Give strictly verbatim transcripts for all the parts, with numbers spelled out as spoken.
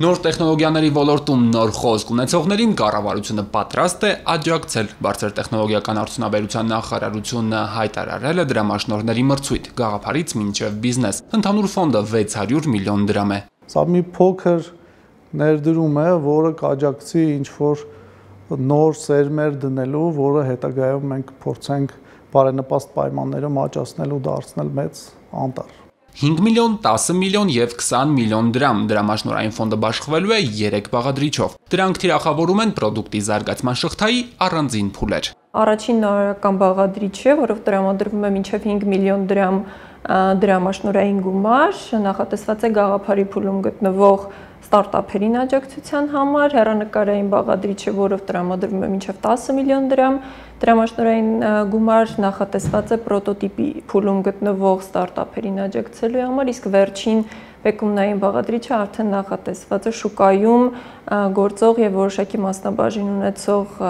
Նոր տեխնոլոգիաների ոլորտում նոր խոսք ունեցողներին կառավարությունը պատրաստ է աջակցել։ Բարձր տեխնոլոգիական արդյունաբերության նախարարությունը հայտարարել է դրամաշնորհների մրցույթ գաղափարից մինչև բիզնես։ Ընդհանուր ֆոնդը վեց հարյուր միլիոն դրամ է։ Սա մի փոքր ներդրում է, որը կաջակցի ինչ-որ նոր սերմեր դնելու, որը հետագայում մենք փորձենք բարենպաստ պայմաններում աճացնել ու դարձնել մեծ անտառ։ հինգ միլիոն, տասը միլիոն եւ քսան միլիոն դրամ դրամաշնորհային ֆոնդը բաշխվելու է երեք բաղադրիչով։ Դրանք թիրախավորում են պրոդուկտի զարգացման շղթայի առանձին փուլեր։ Առաջին նորարարական բաղադրիչը, որով տրամադրվում է մինչև հինգ միլիոն դրամ դրամաշնորհային գումար, նախատեսված է գաղափարի փուլում գտնվող ստարտափերին աջակցության համար, հեռանկարային բաղադրիչը, որով տրամադրվում է մինչև տասը միլիոն դրամ դրամաշնորհային գումար, նախատեսված է պրոտոտիպի փուլում գտնվող ստարտափերին աջակցելու համար, իսկ վերջին բեկումնային բաղադրիչը արդեն նախատեսված է շուկայում գործող եւ որոշակի մասնաբաժին ունեցող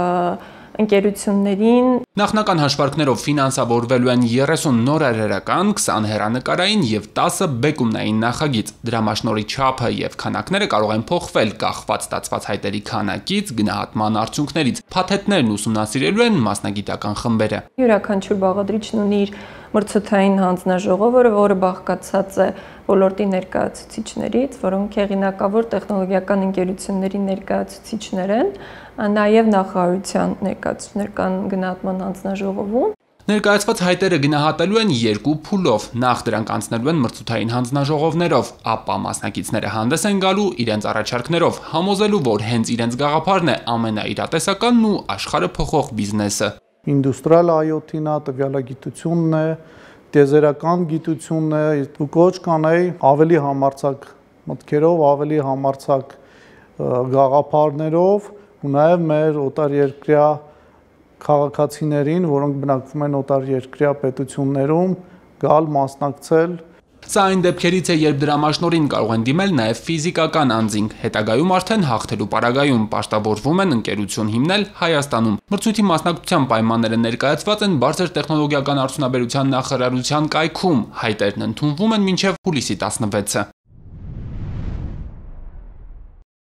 ընկերություններին։ Նախնական հաշվարկներով ֆինանսավորվելու են երեսուն նորարարական, քսան հեռանկարային եւ տասը բեկումնային նախագիծ։ Դրամաշնորհի չափը եւ քանակները կարող են փոխվել կախված ստացված հայտերի քանակից, գնահատման արդյունքներից։ Փաթեթներն ուսումնասիրելու են մասնագիտական խմբերը։ Յուրաքանչյուր բաղադրիչն ունի իր մրցութային հանձնաժողովը, որը բաղկացած է ոլորտի ներկայացուցիչներից, որոնք հեղինակավոր տեխնոլոգիական ընկերությունների ներկայացուցիչներ են, նաև նախարարության ներկայացուցիչներ կան գնահատման հանձնաժողովում։ Ներկայացված հայտերը գնահատելու են երկու փուլով։ Նախ դրանք անցնելու են մրցութային հանձնաժողովներով, ապա մասնակիցները հանդես են գալու իրենց առաջարկներով, համոզելու, որ հենց իրենց գաղափարն է ամենաիրատեսականն ու աշխարհը փոխող բիզնեսը։ Ինդուստրիալ այ օ թի-ն է, տվյալագիտությունն է, տիեզերական գիտությունն է, ու կոչ կանեի ավելի համարձակ մտքերով, ավելի համարձակ գաղափարներով ու նաև մեր օտարերկրյա քաղաքացիներին, որոնք բնակվում են օտարերկրյա պետություններում, գալ մասնակցել։ Սա այն դեպքերից է, երբ դրամաշնորհին կարող են դիմել նաև ֆիզիկական անձինք, հետագայում արդեն հաղթելու պարագայում պաշտավորվում են ընկերություն հիմնել Հայաստանում։ Մրցույթի մասնակցության պայմանները ներկայացված են բարձր տեխնոլոգիական արդյունաբերության նախարարության կայքում, հայտերն ընդունվում են մինչև հուլիսի տասնվեցը։